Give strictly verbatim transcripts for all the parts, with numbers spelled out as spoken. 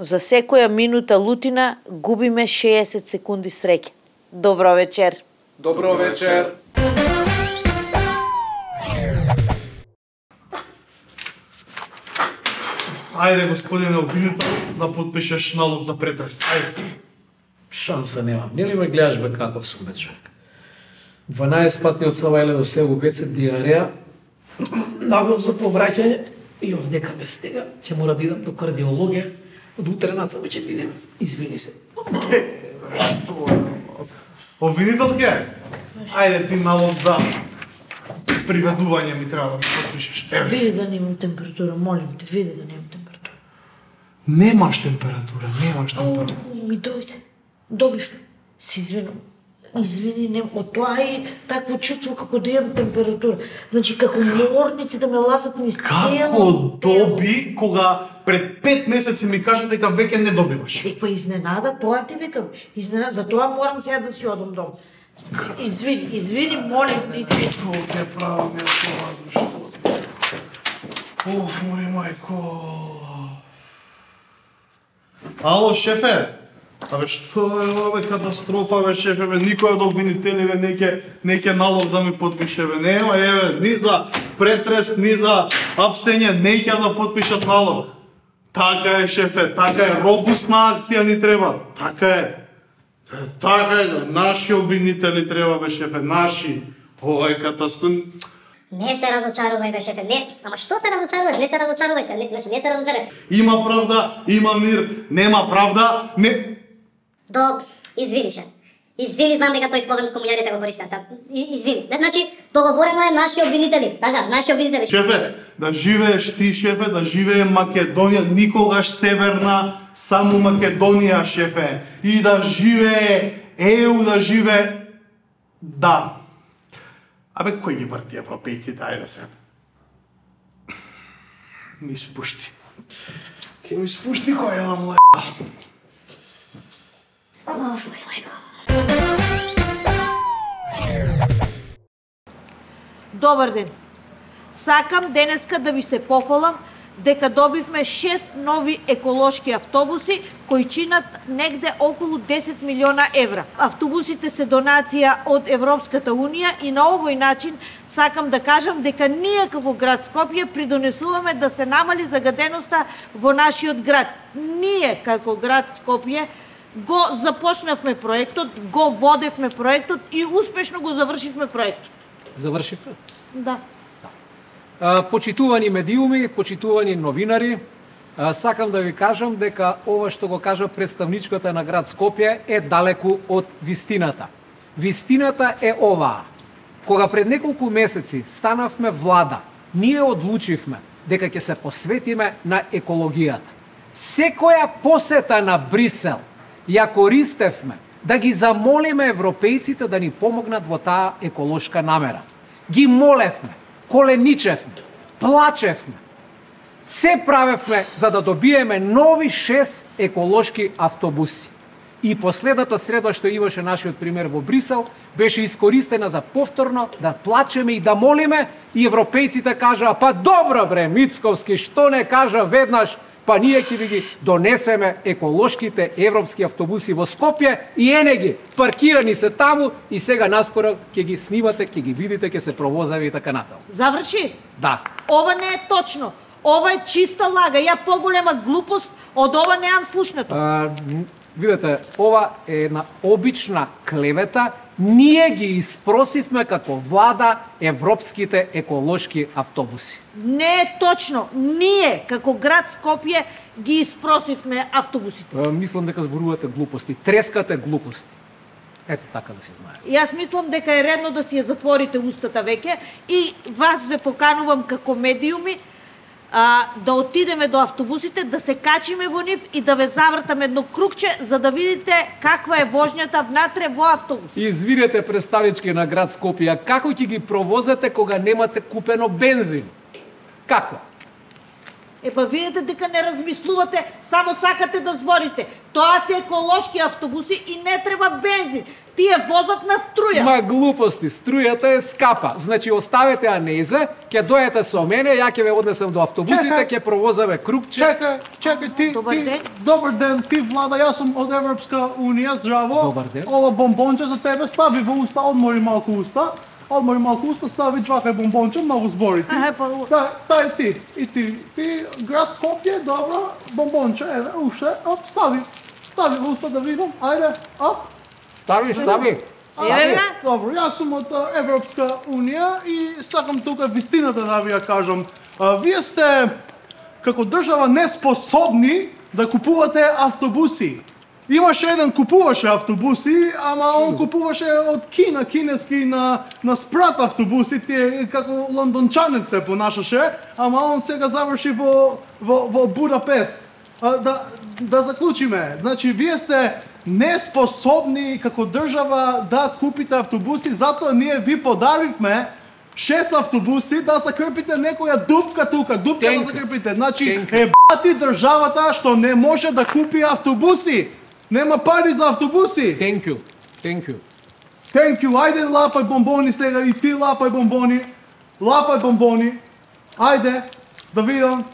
За секоја минута лутина губиме шеесет секунди среќа. Добро вечер. Добро вечер. Ајде, господине обвинител, да подпишеш налог за претрес. Ајде. Шанса немам. Нели ме гледаш бе каков сум бе човек? дванаесет патни од Савајле до село Веце диареја, наглов за повраќање и овдека ме стега. Ќе мора да идам до кардиологија. Од утре натаму ќе видиме. Извини се. Обвинителке, ајде ти налог за приведување ми треба да ми подпишеш. Види да немам температура, молим те, види да немам температура. Немаш температура, немаш температура. О, ми дојде. Добив. Се извинам. Извини, не, од тоа и такво чувство како да имам температура. Значи, како морници да ме лазат низ цело Како доби кога пред пет месеци ми кажа дека веќе не добиваш? Е, па изненада, тоа ти викам. Изненада, затоа морам сега да си одам дом. Извини, извини, молим ти. Што ќе правам ја со вас, што? Оф, мори мајко. Ало, шефе? Абе, што е ова, бе, катастрофа, бе, шефе, бе, никој од обвинителиве не ќе не ќе налог да ми подпише, бе, нема, еве, ни за претрес, ни за апсење, не ќе да подпишат налог. Така е, шефе, така е, робусна акција ни треба, така е. Така е, наши обвинители треба, бе, шефе, наши. Ова е катастрофа. Не се разочарувај бе шефе, не. Ама што се разочаруваш? Не се разочарувај се, не, значи не се разочарувај. Има правда, има мир, нема правда, не... До, извини ше. Извини, знам дека тој слоган комуњарите го користат сега. Извини. Значи, договорено е наши обвинители. Така, наши обвинители. Шефе, да живееш ти, шефе, да живее Македонија, никогаш северна, само Македонија, шефе. И да живее ЕУ, да живее... Да. Абе, кој ги врти европејците, ајде се. Ми спушти. Ке ми спушти кој е да му е. Оф, мој мајко. Добар ден. Сакам денеска да ви се пофалам дека добивме шест нови еколошки автобуси кои чинат негде околу десет милиона евра. Автобусите се донација од Европската Унија и на овој начин сакам да кажам дека ние како град Скопје придонесуваме да се намали загаденоста во нашиот град. Ние како град Скопје го започнавме проектот, го водевме проектот и успешно го завршивме проектот. Завршивте? Да. А, почитувани медиуми, почитувани новинари, а, сакам да ви кажам дека ова што го кажа представничката на град Скопје е далеку од вистината. Вистината е оваа. Кога пред неколку месеци станавме влада, ние одлучивме дека ќе се посветиме на екологијата. Секоја посета на Брисел ја користевме да ги замолиме европејците да ни помогнат во таа еколошка намера. Ги молевме, коленичевме, плачевме. Се правевме за да добиеме нови шест еколошки автобуси. И последната среда што имаше нашиот пример во Брисел, беше искористена за повторно да плачеме и да молиме и европејците кажаа, па добро бре, Мицковски, што не кажа веднаш, па ние ќе ви ги донесеме еколошките европски автобуси во Скопје и ене ги, паркирани се таму и сега наскоро ќе ги снимате, ќе ги видите, ќе се провозави и така натаму. Заврши? Да. Ова не е точно. Ова е чиста лага. Ја поголема глупост од ова неам слушнато. А, видете, ова е една обична клевета. Ние ги испросивме како влада европските еколошки автобуси. Не е точно. Ние, како град Скопје, ги испросивме автобусите. А, мислам дека зборувате глупости. Трескате глупости. Ето така да се знае. И јас мислам дека е редно да си ја затворите устата веќе и вас ве поканувам како медиуми а, да отидеме до автобусите, да се качиме во нив и да ве завртаме едно кругче за да видите каква е воžњата внатре во автобус. Извинете, представнички на град Скопје, како ќе ги провозете кога немате купено бензин? Како? Епа видите дека не размислувате, само сакате да зборите. Тоа се еколошки автобуси и не треба бензин. Тие возат на струја. Ма глупости, струјата е скапа. Значи оставете ја неза, ќе дојдете со мене, ја ќе ве однесам до автобусите, ќе провозаме кругче. Чекај, чекај ти, Добар ти, ден. добар ден, ти Влада, јас сум од Европска унија, здраво. Добар ден. Ова бомбонче за тебе стави во уста, одмори малку уста. Одмори малку уста, стави джвакај бомбонче, многу збори ти. Ај, па, Та, тај ти, и ти, ти град Скопје, добро, бомбонче, еве, уште, оп, стави. Стави во уста да видам, ајде, оп. Стави, стави. Еве га. Добро, јас сум од а, Европска унија и сакам тука вистината да ви ја кажам. А, вие сте како држава неспособни да купувате автобуси. Имаше еден купуваше автобуси, ама он купуваше од Кина, кинески на на спрат автобуси, тие како лондончанец се понашаше, ама он сега заврши во во во Будапест. А, да да заклучиме. Значи вие сте неспособни како држава да купите автобуси, затоа ние ви подаривме шест автобуси да закрпите некоја дупка тука, дупка Thank да you. закрпите. Значи Thank you. е бати државата што не може да купи автобуси. Нема пари за автобуси. Thank you. Thank you. Thank you. Ајде лапај бомбони сега и ти лапај бомбони. Лапај бомбони. Ајде да видам.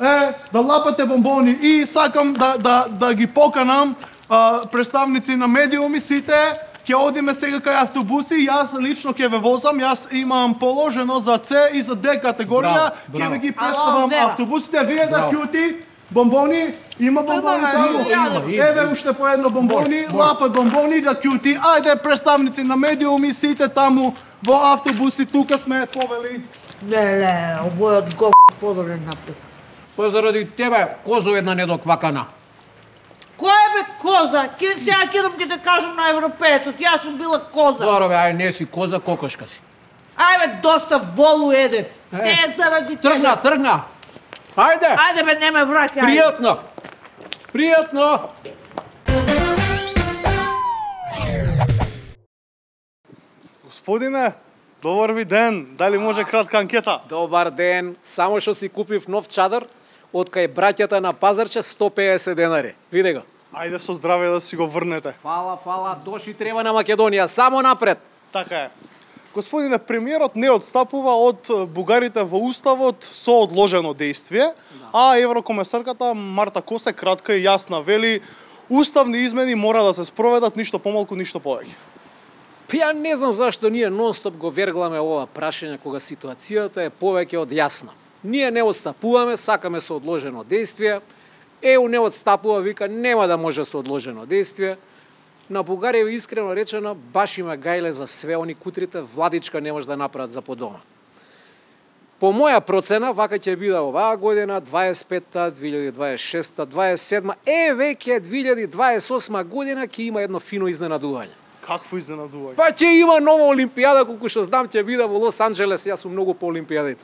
Е, да лапате бомбони и сакам да да да ги поканам а, представници на медиуми сите. Ќе одиме сега кај автобуси, јас лично ќе ве возам, јас имам положено за С и за Д категорија, Браво, ќе браво. ви ги Ало, представам Вера. автобусите, вие да Браво. кјути бомбони, има бомбони Има, таму. има, има. Еве уште по едно бомбони, Може, може. лапа бомбони да кјути. Ајде представници на медиуми сите таму во автобуси, тука сме повели. Леле, овојот го подобрен напред. Па заради тебе, козо една недоквакана. Кој бе коза? Ке сега кидам ќе те кажам на европеецот. Јас сум била коза. Добро бе, ај не си коза, кокошка си. Ајде, доста волу еде. Се е заради Тргна, тебе. тргна. Ајде. Ајде бе, не ме враќај. Пријатно. Пријатно. Господине, добар ви ден. Дали може кратка анкета? Добар ден. Само што си купив нов чадар од кај браќата на Пазарче сто и педесет денари. Види го. Ајде со здраве да си го врнете. Фала, фала, доши треба на Македонија, само напред. Така е. Господине, премиерот не одстапува од бугарите во уставот со одложено действие, а еврокомесарката Марта Косе кратка и јасна вели уставни измени мора да се спроведат, ништо помалку, ништо повеќе. Па ја не знам зашто ние нонстоп го вергламе ова прашање кога ситуацијата е повеќе од јасна. Ние не одстапуваме, сакаме со одложено действие. Е У не одстапува, вика нема да може со одложено действие. На Бугарија искрено речено баш има гајле за све, они кутрите владичка не може да направат за подома. По моја процена, вака ќе биде оваа година, дваесет и петта, две илјади дваесет и шеста, дваесет и седма, е веќе две илјади дваесет и осма година ќе има едно фино изненадување. Какво изненадување? Па ќе има нова олимпијада, колку што знам ќе биде во Лос Анџелес, јас сум многу по олимпијадите.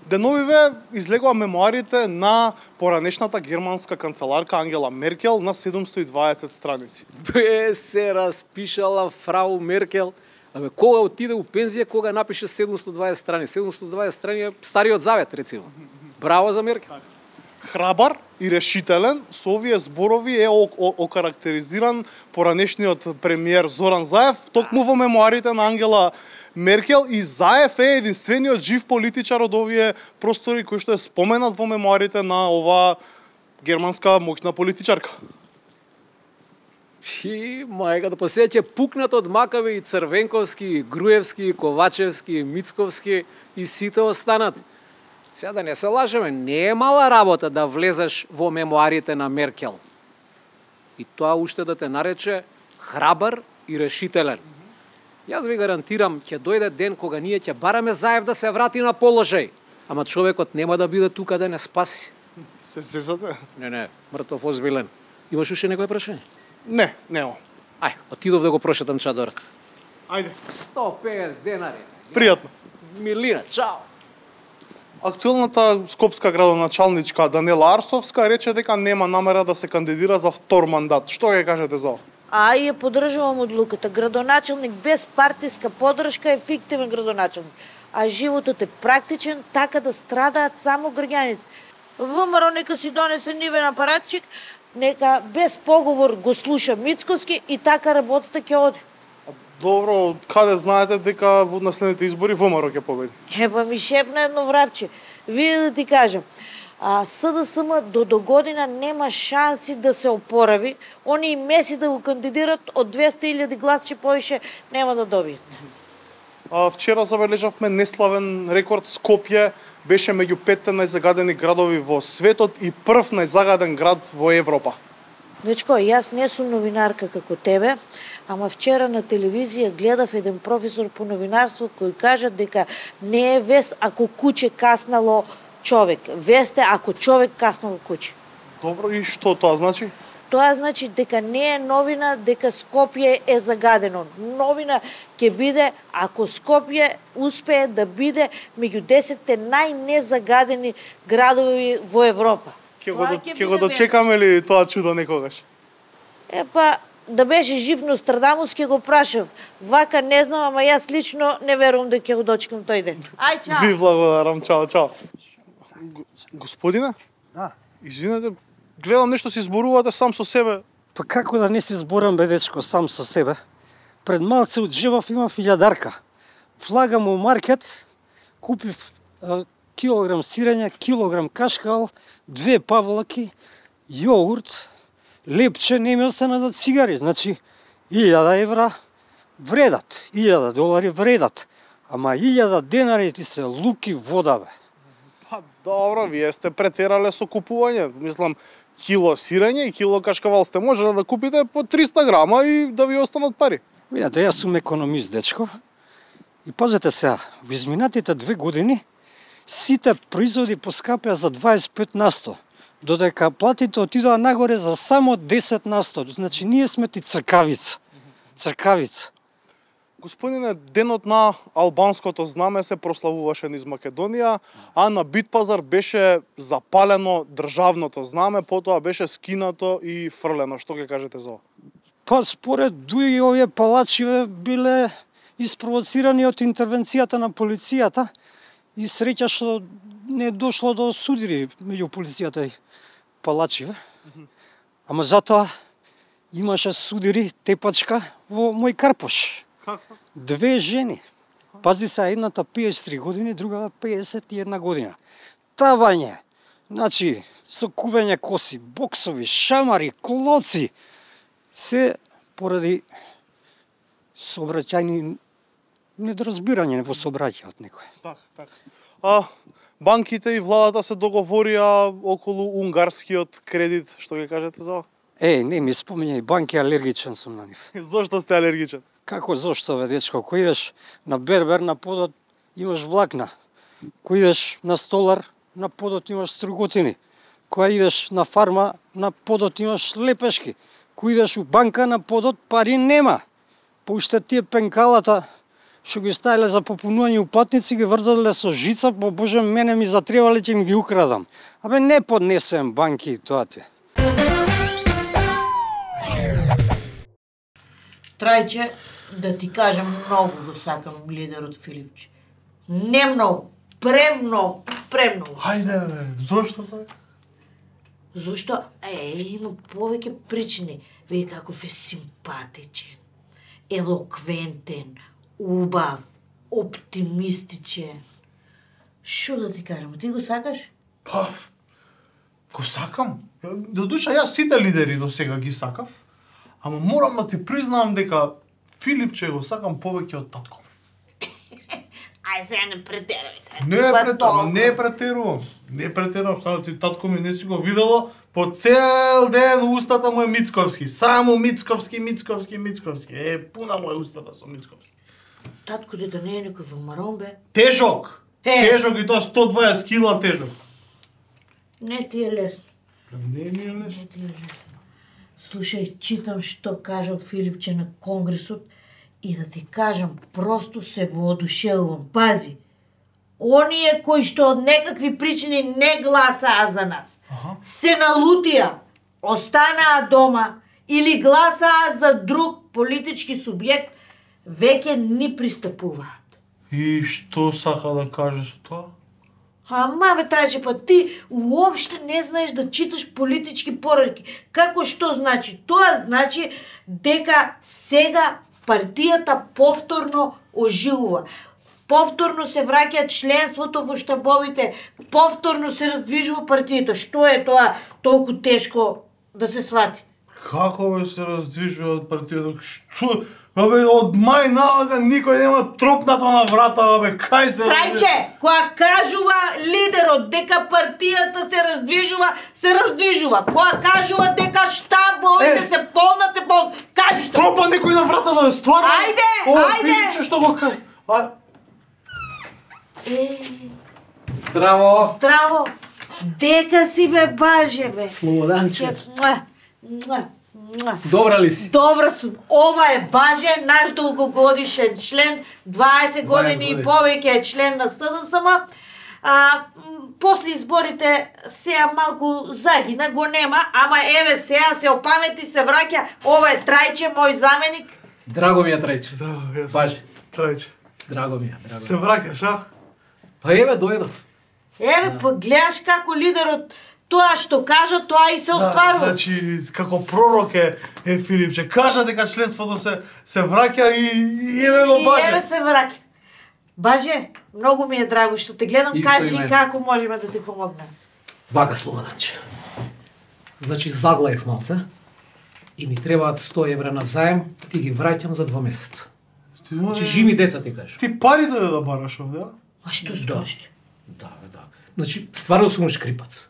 Деновиве излегува мемуарите на поранешната германска канцеларка Ангела Меркел на седумстотини и дваесет страници. Бе, се распишала фрау Меркел. Абе, кога отиде у пензија, кога напише седумстотини и дваесет страни? седумстотини и дваесет страни е Стариот Завет, рецимо. Браво за Меркел. Храбар и решителен, со овие зборови е окарактеризиран поранешниот премиер Зоран Заев, токму во мемуарите на Ангела Меркел, и Заев е единствениот жив политичар од овие простори кој што е споменат во мемуарите на оваа германска моќна политичарка. И мајка да посеќе пукнат од Макаве и Црвенковски, и Груевски, и Ковачевски, и Мицковски и сите останат. Сега да не се лажеме, не е мала работа да влезеш во мемуарите на Меркел. И тоа уште да те нарече храбар и решителен. Јас ви гарантирам, ќе дојде ден кога ние ќе бараме Заев да се врати на положај. Ама човекот нема да биде тука да не спаси. Се сезате? Не, не, мртов озбилен. Имаш уште некој прашање? Не, нема. Ај, отидов да го прошетам чадорот. Ајде, сто и педесет денари. пријатно. Милина, чао. Актуелната скопска градоначалничка Данела Арсовска рече дека нема намера да се кандидира за втор мандат. Што ќе кажете за ова? А ја поддржувам одлуката. Градоначалник без партиска поддршка е фиктивен градоначалник. А животот е практичен, така да страдаат само граѓаните. ВМРО нека си донесе нивен апаратчик, нека без поговор го слуша Мицковски и така работата ќе оди. Добро, каде знаете дека во наследните избори ВМРО ќе победи? Епа ми шепна едно врапче. Види да ти кажам, а СДСМ до до година нема шанси да се опорави. Они и Меси да го кандидират од двесте илјади гласчи повише нема да добијат. А, вчера забележавме неславен рекорд. Скопје беше меѓу петте најзагадени градови во светот и прв најзагаден град во Европа. Дечко, јас не сум новинарка како тебе, ама вчера на телевизија гледав еден професор по новинарство кој кажа дека не е вест ако куче каснало човек, вест е ако човек каснало куче. Добро, и што тоа значи? Тоа значи дека не е новина дека Скопје е загадено. Новина ќе биде ако Скопје успее да биде меѓу десетте најнезагадени градови во Европа. Ке го, ке го дочекаме ли тоа чудо некогаш? Епа, да беше жив Нострадамус ќе го прашав. Вака не знам, ама јас лично не верувам дека ќе го дочекам тој ден. Ај, чао. Ви благодарам, чао, чао. Господине? Да. Извинете, гледам нешто си зборувате сам со себе. Па како да не си зборам, бе, дечко, сам со себе? Пред малце од джебав имав илјадарка. Влагам у маркет, купив а, килограм сирење, килограм кашкавал, две павлаки, јогурт, лепче, не ми остана за цигари. Значи, илјада евра вредат, илјада долари вредат. Ама илјада денари ти се луки вода, бе. Па добро, вие сте претерале со купување. Мислам, кило сирење и кило кашкавал сте можеле да купите по триста грама и да ви останат пари. Видете, јас сум економист, дечко. И пазете сега, во изминатите две години сите производи поскапеа за дваесет и пет на сто, додека платите отидоа нагоре за само десет на сто. Значи, ние сме ти цркавица. Цркавица. Господине, денот на албанското знаме се прославуваше низ Македонија, а на Битпазар беше запалено државното знаме, потоа беше скинато и фрлено. Што ќе кажете за ова? Па според Дуи овие палачиве биле испровоцирани од интервенцијата на полицијата и среќа што не дошло до судири меѓу полицијата и палачиве. Ама затоа имаше судири тепачка во мој Карпош. Две жени. Пази се, едната пеесет и три години, другата пеесет и една година. Тавање, значи, со кубење коси, боксови, шамари, клоци, се поради сообраќајни недоразбирање во сообраќај од некој. Така, така. А банките и владата се договорија околу унгарскиот кредит, што ќе кажете за ова? Е, не ми спомењај банки, алергичен сум на нив. Зошто сте алергичен? Како зошто, бе, дечко? Кој идеш на бербер, на подот имаш влакна. Кој идеш на столар, на подот имаш струготини. Кој идеш на фарма, на подот имаш лепешки. Кој идеш у банка, на подот пари нема. Поуште тие пенкалата што ги ставиле за попунување уплатници, ги врзале со жица, по Боже, мене ми затребале, ќе им ги украдам. Абе, не поднесем банки и тоа ти. Трајче, да ти кажам, многу го сакам лидерот Филипче. Не многу, премногу, премногу. Хајде, бе, зошто тоа? Зошто? Е, има повеќе причини. Вие каков е симпатичен, елоквентен, убав, оптимистичен. Шо да ти кажам, ти го сакаш? Па, го сакам. До душа, јас сите лидери до сега ги сакав, ама морам да ти признавам дека Филипче го сакам повеќе од татко. Ај, сега не претерај се. Не претерувам, не претерувам. Не претерувам, само ти татко ми не си го видело, по цел ден устата му е Мицковски. Само Мицковски, Мицковски, Мицковски. Е, пуна му е устата со Мицковски. Татко дета не е некој вамарон, бе. Тежок! Е. Тежок и тоа сто и дваесет кила тежок. Не ти е лесно. Не ми е лесно. Не ти е лесно. Слушај, читам што кажал Филипче на конгресот и да ти кажам, просто се воодушевувам. Пази, оние кои што од некакви причини не гласаа за нас, Аха. се налутија, останаа дома или гласаа за друг политички субјект, веќе ни пристапуваат. И што сака да каже со тоа? Ама бе Трајче, па ти уопште не знаеш да читаш политички пораки. Како што значи? Тоа значи дека сега партијата повторно оживува. Повторно се враќа членството во штабовите, повторно се раздвижува партијата. Што е тоа толку тешко да се свати? Како бе се раздвижува партијата? Што? Абе, од мај налага никој нема тропнато на врата, абе, кај се... Трајче, кога кажува лидерот дека партијата се раздвижува, се раздвижува. Кога кажува дека штабовите се полнат, се полнат. Кажи што? Тропа некој на врата да бе, стварно? Ајде, О, ајде! Филипче, што го кажа? А... Е, Здраво! здраво! Дека си бе баже, бе. Слободанче. Муа, муа, муа. Добра ли си? Добра сум. Ова е Баже, наш долгогодишен член, дваесет години и повеќе е член на С Д С М. А, после изборите сега малку загина, го нема, ама еве сега се опамети, се враќа. Ова е Трајче, мој заменик. Драго ми е Трајче. Здраво, јас. Баже. Трајче. Драго ми е. Драго. Се враќаш, а? Па еве дојдов. Еве, па гледаш како лидерот тоа што кажа, тоа и се остварува. Значи, како пророк е, е Филипче. Кажа дека членството се се враќа и, и еве го И Баже. еве се враќа. Баже, многу ми е драго што те гледам, Исто кажи и мен. како можеме да ти помогнеме. Вака, Слободанче. Значи заглаев малце и ми требаат сто евра на заем, ти ги враќам за два месеца. Значи жими деца ти кажеш. Ти пари дојде да бараш овде, а? А што сториш? Да, бе, да. Значи, стварно сум шкрипац.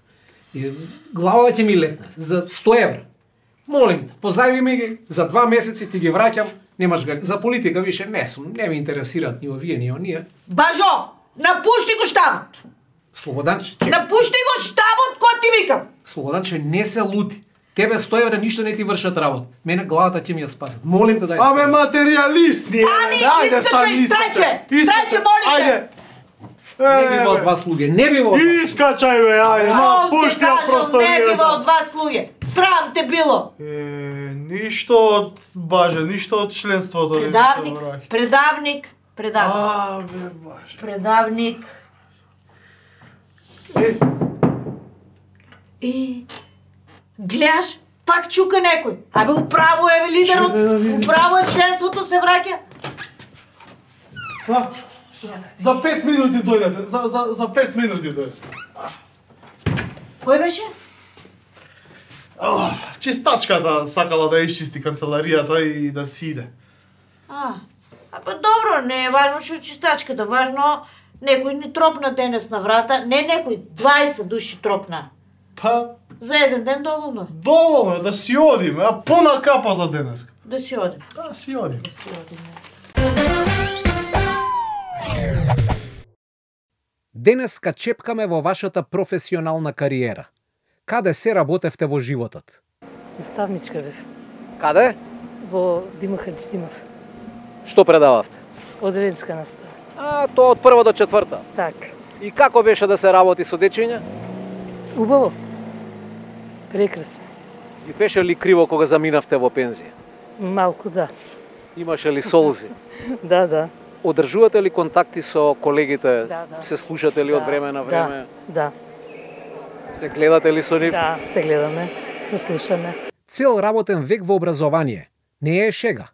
И главата ќе ми летне за сто евра. Молим те, позајми ми ги, за два месеци ти ги враќам, немаш га... За политика више не сум, не ме интересираат ни овие, ни оние. Бажо, напушти го штабот! Слободанче, че... Напушти го штабот кој ти викам! Слободанче, не се лути. Тебе сто евра ништо не ти вршат работа. Мене главата ќе ми ја спасат. Молим те дај. Абе, материјалист ни е. Стани, Ајде, искачај, стани, Трајче, искачај. Трајче, молим те. Ајде. Не бива од вас луѓе, не бива од вас. Искачај, бе, ајде, ма, Ол те пушти ја кажам, не бива просторијата. од вас луѓе. Срам те било. Е, ништо од Баже, ништо од членството. не се Предавник, враќа. предавник, предавник. А, бе, Баже. Предавник. Е, И гледаш, пак чука некој. Абе управо е лидерот, Чекај да видим. управо е членството се враќа. па, за пет минути дојдете, за, за, за пет минути дојдете. Кој беше? Ах, чистачката сакала да исчисти канцеларијата и да си иде. А, а па добро, не е важно што чистачката, важно некој ни тропна денес на врата, не некој, двајца души тропна. Па, За еден ден доволно е, доволно е да си одиме, а пуна капа за денеска. да си одим. Да, си одиме. Да си одиме. Денеска чепкаме во вашата професионална кариера. Каде се работевте во животот? Наставничка бев Каде? во Димо Хаджидимов, Што предававте? одделенска настава. А, тоа од прва до четврта. Так, И како беше да се работи со дечиња? убаво, прекрасно, И беше ли криво кога заминавте во пензија? малку да, Имаше ли солзи? да, да. Одржувате ли контакти со колегите? Да, да. Се слушате ли од време на време? Да, Се гледате ли со нив? да, се гледаме, се слушаме. Цел работен век во образование не е шега.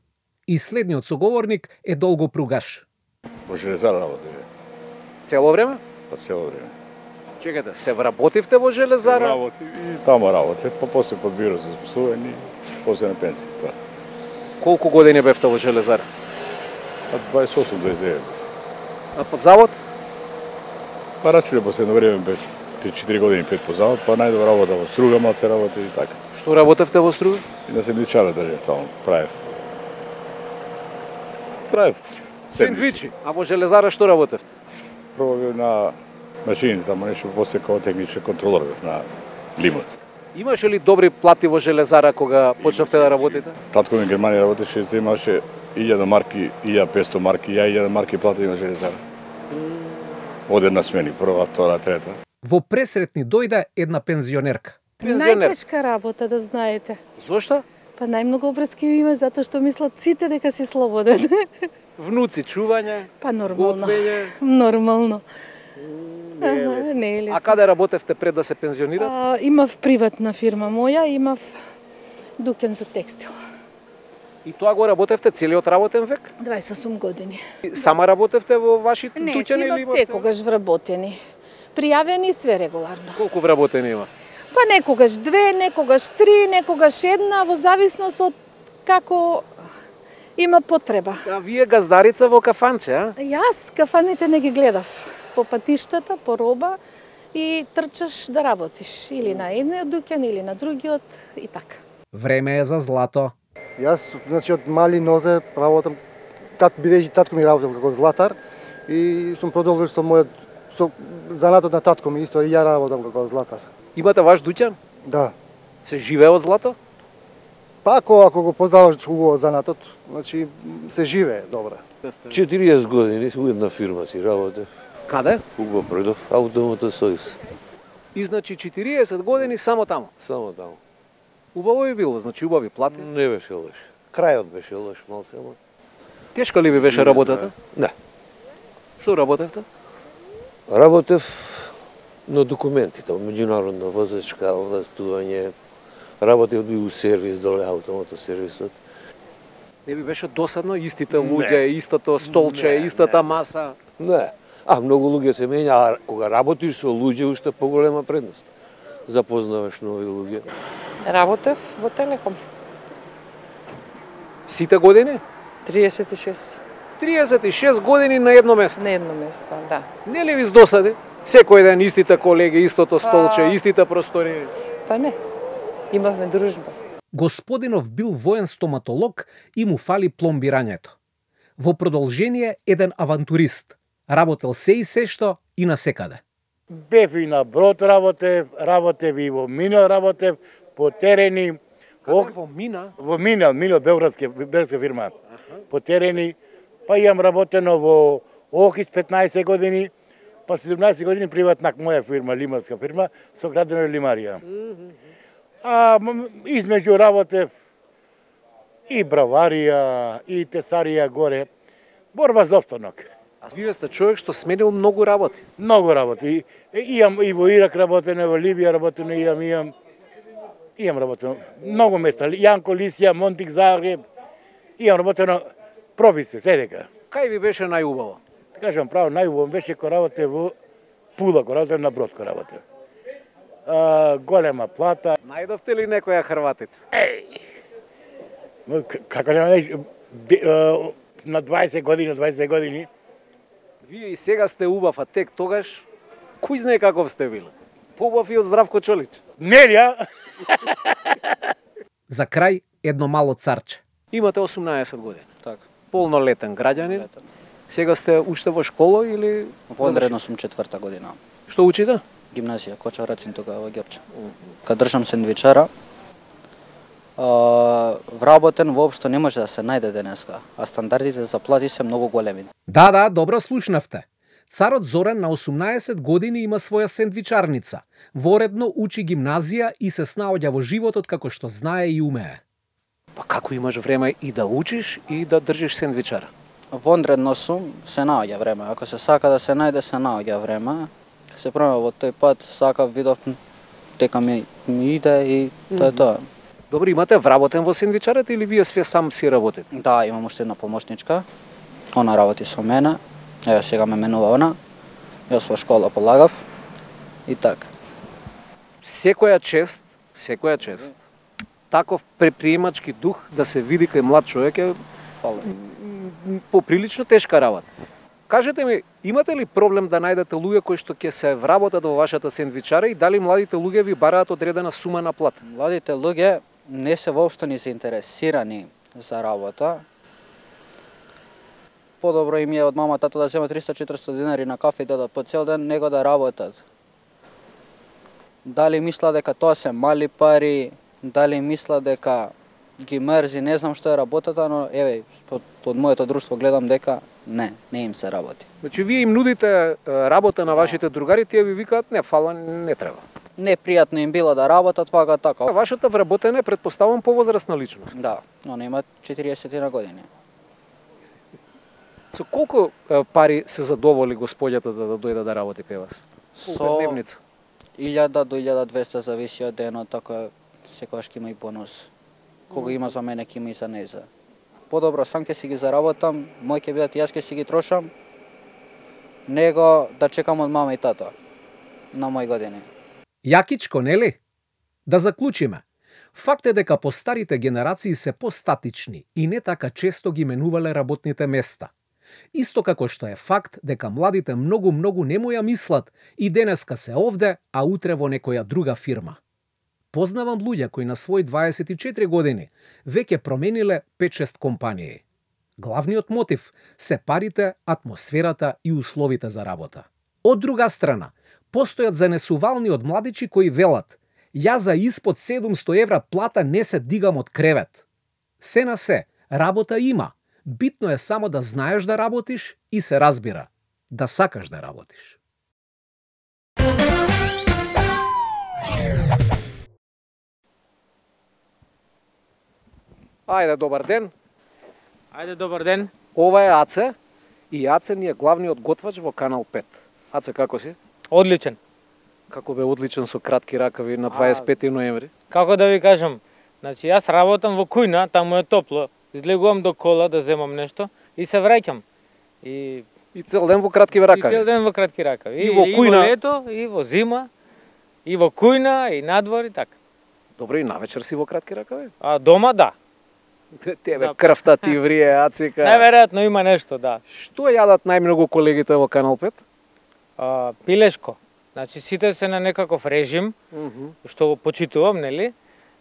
И следниот соговорник е Долго Пругаш. Во железара работи, Цело време? па цело време. Чекате, се вработивте во железара? Работи и тамо работи, па после подбира за запослување и после на пензија. Тоа. Колку години бевте во железара? Па дваесет и осум до дваесет и девет. А под завод? Па рачуне последно време бе три-четири години пет по завод, па најдобра работа во струга, малце работи и така. Што работевте во струга? И на сендвичара држев таму, правев. Правев Сендвичи. А во железара што работевте? Прво бев на машините таму нешто, после како технички контролор бев на лимот. Имаше ли добри плати во железара кога почнавте да работите? Татко ми Германија работеше, се имаше илјада марки, илјада петсто марки, ја илјада марки плата има железара. Оде на смени, прва, втора, трета. Во пресретни дојде една пензионерка. Најтешка работа, да знаете. Зошто? Па најмногу обврски имаш затоа што мислат сите дека си слободен. Внуци, чување, Па нормално. готвење. Нормално. Не е Аха, лесно. не е лесно. А каде работевте пред да се пензионирате? А, имав приватна фирма моја, имав дуќан за текстил. И тоа го работевте целиот работен век? дваесет и осум години. Сама работевте во вашите Не, дуќани имав или имавте? секогаш вработени. Пријавени све регуларно. Колку вработени има? Па некогаш две, некогаш три, некогаш една, во зависност од како има потреба. А вие газдарица во кафанче, а? Јас кафаните не ги гледав. По патиштата, по роба и трчаш да работиш. Или на едниот дуќан, или на другиот и така. Време е за злато. Јас, значи, од мали нозе работам, тат, бидејќи татко ми работел како златар и сум продолжил со мојот, со занатот на татко ми, исто и ја работам како златар. Имате ваш дуќан? Да. Се живее од злато? Па ако, ако го познаваш убаво занатот, значи се живее добре. четириесет години у една фирма си работев. Каде? Уго Предов, Автомотен сојуз. И значи четириесет години само таму. Само таму. Убаво би било, значи убави плати. Не беше лош. Крајот беше лош малце, ама. Тешка ли ви беше работата? Не. Што работевте? Работев на документите, меѓународна возачка, властување. Работев би у сервис доле автомотосервисот. Не би беше досадно истите луѓе, истото столче, Не, истата маса? Не. А, многу луѓе се менја, а кога работиш со луѓе, уште поголема предност. Запознаваш нови луѓе. Работев во Телеком. Сите години? триесет и шест. триесет и шест години на едно место. На едно место, да. Не ли ви досади? Секој ден истите колеги, истото столче, истите простори. Па не. Имавме дружба. Господинов бил воен стоматолог и му фали пломбирањето. Во продолжение еден авантурист. Работел се и се што и на секаде. Бев и на брод работев, работев и во Мино работев, по терени. Каде во Мина? Во Мина, Мино, белградска, белградска фирма. По терени. Па имам работено во Охис петнаесет години, па седумнаесет години приватна моја фирма, лимарска фирма, со градена лимарија. А измеѓу работев и браварија, и тесарија горе. Борба за опстанок. А вие сте човек што сменил многу работи. Многу работи. И, имам и во Ирак работено, во Либија работено, имам, имам, имам работено. Многу места. Јанко, Лисија, Монтик, Загреб. Имам работено, проби се, седека. Кај ви беше најубаво? Кажам право, најубаво беше кој работе во Пула, кој работе на брод, кој работе. А, голема плата. Најдовте ли некоја хрватица? Еј! Како не најдеш, на дваесет години, дваесет две години. Вие и сега сте убав, а тек тогаш, кој знае каков сте били? Побав и од Здравко Чолич. Нелија! За крај, едно мало царче. Имате осумнаесет години. Така. Полнолетен граѓанин. Сега сте уште во школа или... Вонредно сум четврта година. Што учите? Гимназија, Коча Рацин тога во Герче. Кад држам сендвичара, а, вработен воопшто не може да се најде денеска, а стандардите за плати се многу големи. Да, да, добро слушнавте. Царот Зоран на осумнаесет години има своја сендвичарница. Воредно учи гимназија и се снаоѓа во животот како што знае и умее. Па како имаш време и да учиш и да држиш сендвичара? Вонредно сум, се наоѓа време. Ако се сака да се најде, се наоѓа време. Се промена во тој пат, сакав, видов, дека ми, ми иде и тоа е тоа. Добро, имате вработен во сендвичарот или вие све сам си работите? Да, имам уште една помошничка. Она работи со мене. Ево сега ме менува она. Јас во школа полагав. И така. Секоја чест, секоја чест. Таков предприемачки дух да се види кај млад човек е поприлично тешка работа. Кажете ми, имате ли проблем да најдете луѓе кои што ќе се вработат во вашата сендвичара и дали младите луѓе ви бараат одредена сума на плата? Младите луѓе не се воопшто ни заинтересирани за работа. Подобро им е од мама тато да земат триста-четириста динари на кафе и да по цел ден него да работат. Дали мисла дека тоа се мали пари, дали мисла дека ги мерзи, не знам што е работата, но еве, под, под моето друштво гледам дека не, не им се работи. Значи вие им нудите работа на вашите другари, тие ви викаат не, фала, не треба. Непријатно им било да работат вака така. Вашата вработена е претпоставам повозрастна личност. Да, она има четириесет на години. Со колку пари се задоволи господјата за да дојде да работи кај вас? Со илјада до илјада двесте зависи од денот, така секогаш ќе има и бонус. Кога има за мене, ќе има и за нејзе. Подобро сам ќе си ги заработам, мој ќе бидат и јас ќе си ги трошам, него да чекам од мама и тата на мои години. Јакичко, нели? Да заклучиме. Факт е дека постарите генерации се постатични и не така често ги менувале работните места. Исто како што е факт дека младите многу-многу не му ја мислат и денеска се овде, а утре во некоја друга фирма. Познавам луѓе кои на свој дваесет и четири години веќе промениле пет-шест компании. Главниот мотив се парите, атмосферата и условите за работа. Од друга страна, постојат занесувални од младичи кои велат: "Ја за испод седумсто евра плата не се дигам од кревет." Се на се, работа има. Битно е само да знаеш да работиш и се разбира, да сакаш да работиш. Ајде, добар ден. Ајде, добар ден. Ова е Аце и Аце ни е главниот готвач во Канал пет. Аце, како си? Одличен. Како бе одличен со кратки ракави на дваесет и пети ноември? Како да ви кажам, значи јас работам во кујна, таму е топло, излегувам до кола да земам нешто и се враќам. И и цел ден во кратки ракави. И цел ден во кратки ракави. И, и во кујна, и во лето, и во зима, и во кујна, и надвор и така. Добро, и навечер си во кратки ракави? А дома да. Тебе да. Крвта ти врие, Ацика. Најверојатно има нешто, да. Што јадат најмногу колегите во Канал пет? А, пилешко. Значи сите се на некаков режим, mm -hmm. што го почитувам, нели?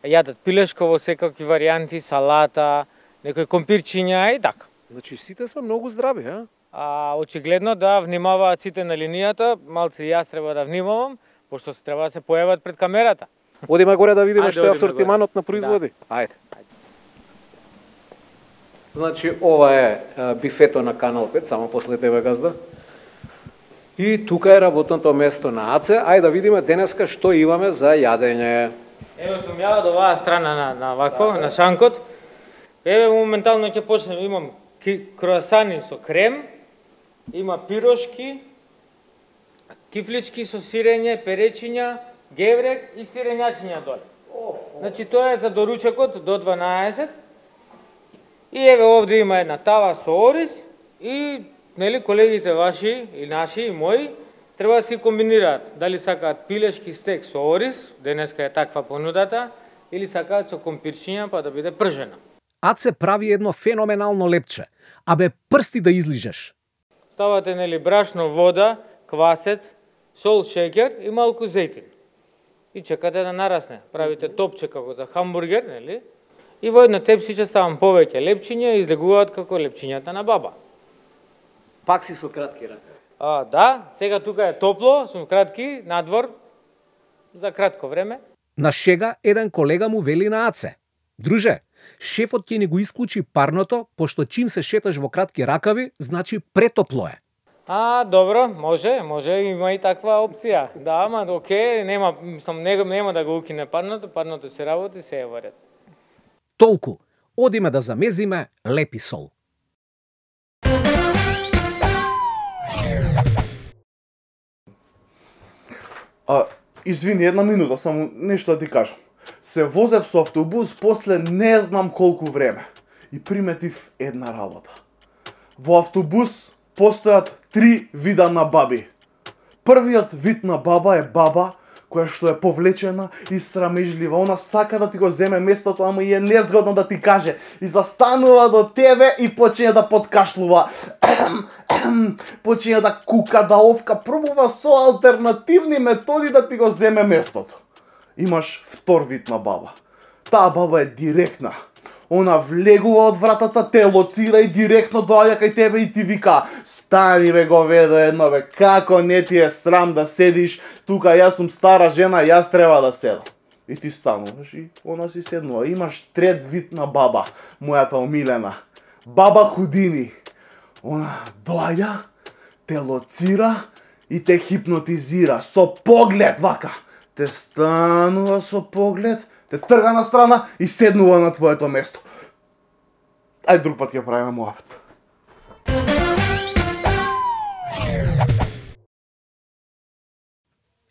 Јадат пилешко во секакви варијанти, салата, некои компирчиња и така. Значи сите сме многу здрави, а? А очигледно да внимаваат сите на линијата, малце јас треба да внимавам, пошто се треба да се појават пред камерата. Одиме горе да видиме што е асортиманот на производи. Да. Ајде. Значи, ова е бифето на Канал пет, само после тебе, газда. И тука е работното место на Аце. Ајде да видиме денеска што имаме за јадење. Ево сум ја од оваа страна на, на вакво, да. На шанкот. Еве моментално ќе почнем, имам круасани со крем, има пирошки, кифлички со сирење, перечиња, геврек и сирењачиња доле. Значи тоа е за доручекот до дванаесет. И еве овде има една тава со ориз и нели колегите ваши и наши и мои треба да си комбинираат. Дали сакаат пилешки стек со ориз, денеска е таква понудата, или сакаат со компирчиња па да биде пржена. Аце прави едно феноменално лепче. Абе, прсти да излижеш. Ставате нели брашно, вода, квасец, сол, шеќер и малку зејтин. И чекате да нарасне. Правите топче како за хамбургер, нели? И во една тепсиче ставам повеќе лепчиња и излегуваат како лепчињата на баба. Пак си со кратки ракави. А, да, сега тука е топло, сум кратки, надвор, за кратко време. На шега еден колега му вели на Аце: "Друже, шефот ќе ни го исклучи парното, пошто чим се шеташ во кратки ракави, значи претопло е." А, добро, може, може, има и таква опција. Да, ама, окей, нема, сам, нема, нема да го укине парното, парното се работи, се е во ред. Толку, одиме да замезиме лепи сол. А, извини, една минута, само нешто да ти кажам. Се возев со автобус после не знам колку време и приметив една работа. Во автобус постојат три вида на баби. Првиот вид на баба е баба која што е повлечена и срамежлива. Она сака да ти го земе местото, ама и е незгодно да ти каже. И застанува до тебе и почине да подкашлува. Почине да кука, да овка, пробува со алтернативни методи да ти го земе местото. Имаш втор вид на баба. Таа баба е директна. Она влегува од вратата, те лоцира и директно доаѓа кај тебе и ти вика: "Стани бе, говедо едно бе, како не ти е срам да седиш тука, јас сум стара жена, јас треба да седам." И ти стануваш и она си седнува. Имаш трет вид на баба, мојата омилена. Баба Худини. Она доаѓа, те лоцира и те хипнотизира со поглед вака. Те станува со поглед, те трга на страна и седнува на твоето место. Ај друг пат ќе правиме муабет.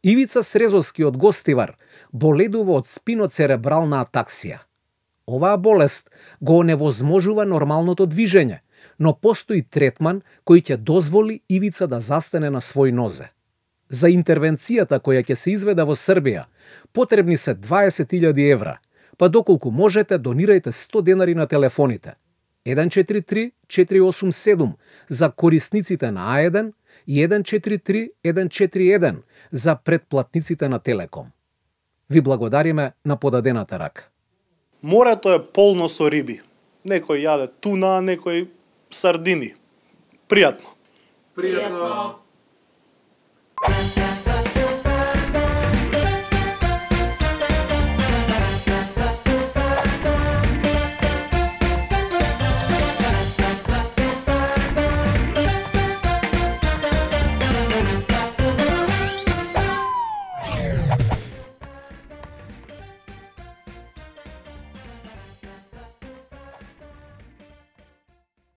Ивица Срезовски од Гостивар боледува од спиноцеребрална атаксија. Оваа болест го оневозможува нормалното движење, но постои третман кој ќе дозволи Ивица да застане на свој нозе. За интервенцијата која ќе се изведе во Србија, потребни се дваесет илјади евра, па доколку можете донирајте сто денари на телефоните еден четири три четири осум седум за корисниците на А еден и еден четири три еден четири еден за претплатниците на Телеком. Ви благодариме на подадената рака. Морето е полно со риби. Некој јаде туна, некој сардини. Пријатно. Пријатно.